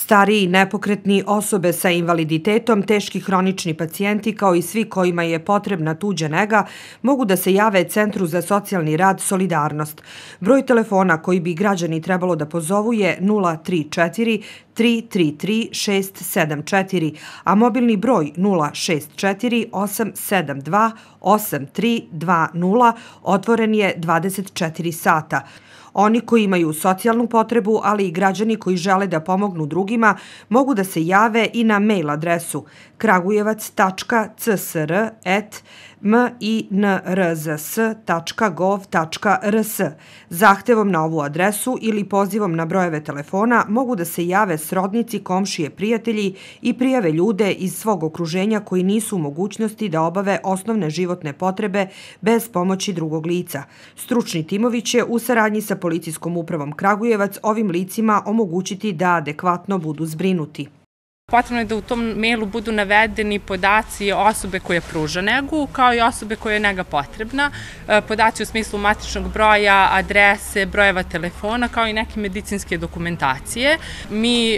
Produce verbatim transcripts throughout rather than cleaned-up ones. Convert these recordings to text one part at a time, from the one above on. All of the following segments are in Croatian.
Stariji, nepokretni, osobe sa invaliditetom, teški hronični pacijenti kao i svi kojima je potrebna tuđa nega mogu da se jave Centru za socijalni rad Solidarnost. Broj telefona koji bi građani trebalo da pozovu je nula tri četiri tri tri tri šest sedam četiri, a mobilni broj nula šest četiri osam sedam dva osam tri dva nula otvoren je dvadeset četiri sata. Oni koji imaju socijalnu potrebu, ali i građani koji žele da pomognu drugima, mogu da se jave i na mail adresu kragujevac tačka c s r at minrz tačka gov tačka r s. Zahtevom na ovu adresu ili pozivom na brojeve telefona mogu da se jave srodnici, komšije, prijatelji i prijave ljude iz svog okruženja koji nisu u mogućnosti da obave osnovne životne potrebe bez pomoći drugog lica. Stručni timovi će u saradnji sa Policijskom upravom Kragujevac ovim licima omogućiti da adekvatno budu zbrinuti. Potrebno je da u tom mailu budu navedeni podaci osobe koja pruža negu, kao i osobe koja je nega potrebna, podaci u smislu matičnog broja, adrese, brojeva telefona, kao i neke medicinske dokumentacije. Mi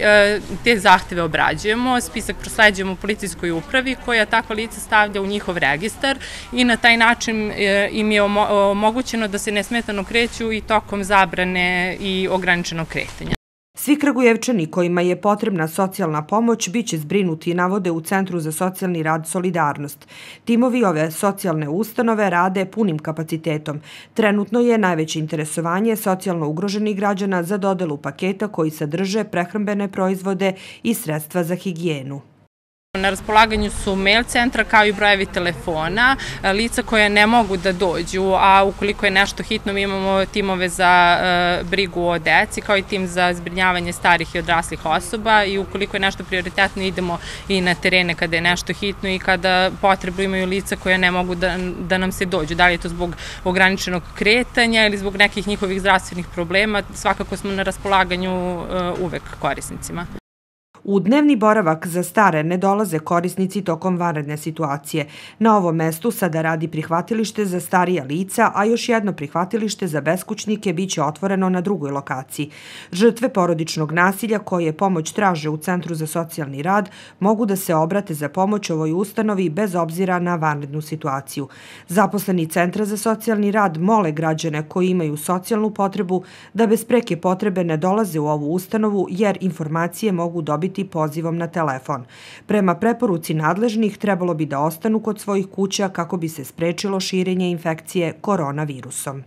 te zahteve obrađujemo, spisak prosleđujemo Policijskoj upravi koja takva lica stavlja u njihov registar i na taj način im je omogućeno da se nesmetano kreću i tokom zabrane i ograničenog kretanja. Svi Kragujevčani kojima je potrebna socijalna pomoć biće zbrinuti, navode u Centru za socijalni rad Solidarnost. Timovi ove socijalne ustanove rade punim kapacitetom. Trenutno je najveće interesovanje socijalno ugroženih građana za dodelu paketa koji sadrže prehrambene proizvode i sredstva za higijenu. Na raspolaganju su mail centra kao i brojevi telefona, lica koja ne mogu da dođu, a ukoliko je nešto hitno mi imamo timove za brigu o deci kao i tim za zbrinjavanje starih i odraslih osoba i ukoliko je nešto prioritetno idemo i na terene kada je nešto hitno i kada potrebu imaju lica koja ne mogu da, da nam se dođu. Da li je to zbog ograničenog kretanja ili zbog nekih njihovih zdravstvenih problema, svakako smo na raspolaganju uvek korisnicima. U dnevni boravak za stare ne dolaze korisnici tokom vanredne situacije. Na ovom mestu sada radi prihvatilište za starija lica, a još jedno prihvatilište za beskućnike biće otvoreno na drugoj lokaciji. Žrtve porodičnog nasilja koje pomoć traže u Centru za socijalni rad mogu da se obrate za pomoć ovoj ustanovi bez obzira na vanrednu situaciju. Zaposleni Centra za socijalni rad mole građane koji imaju socijalnu potrebu da bez preke potrebe ne dolaze u ovu ustanovu jer informacije mogu dobiti pozivom na telefon. Prema preporuci nadležnih trebalo bi da ostanu kod svojih kuća kako bi se sprečilo širenje infekcije koronavirusom.